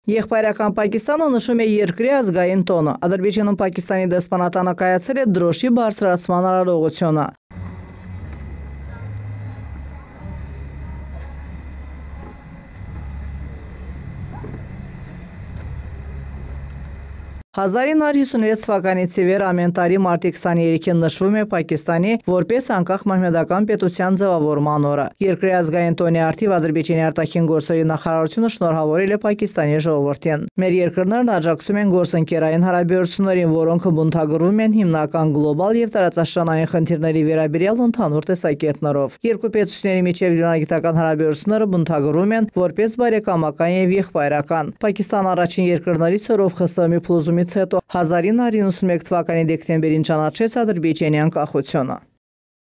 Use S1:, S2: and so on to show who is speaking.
S1: Եղբայրական Պակիստանը նշում է երկրի ազգային տոնը։ Ադրբեջանում Պակիստանի դեսպանատանը կայացել է դրոշի բարձրացման արարողությունը։ «1956 թվականից ի վեր ամեն տարի մարտի 23-ին նշվում է Պակիստանի որպես անկախ մահմեդական պետության ձևավորման օրը։ Երկրի ազգային տոնի առթիվ Ադրբեջանի արտաքին գործերի նախարարությունը շնորհավորել է Պակիստանի ժողովրդին։ Մեր երկրներն աջակցում են գործընկերային հարաբերություններին, որոնք բնութագրվում են հիմնական գլոբալ եւ տարածաշրջանային խնդիրների վերաբերյալ ընդհանուր տեսակետներով։ Երկու պետությունների միջև դիվանագիտական հարաբերությունները բնութագրվում են որպես բարեկամական եւ եղբայրական։ Պակիստանը առաջին երկրներից էր, ով ԽՍՀՄ փլուզումից հետո 1991 թվականի դեկտեմբերին ճանաչեց Ադրբեջանի անկախությունը։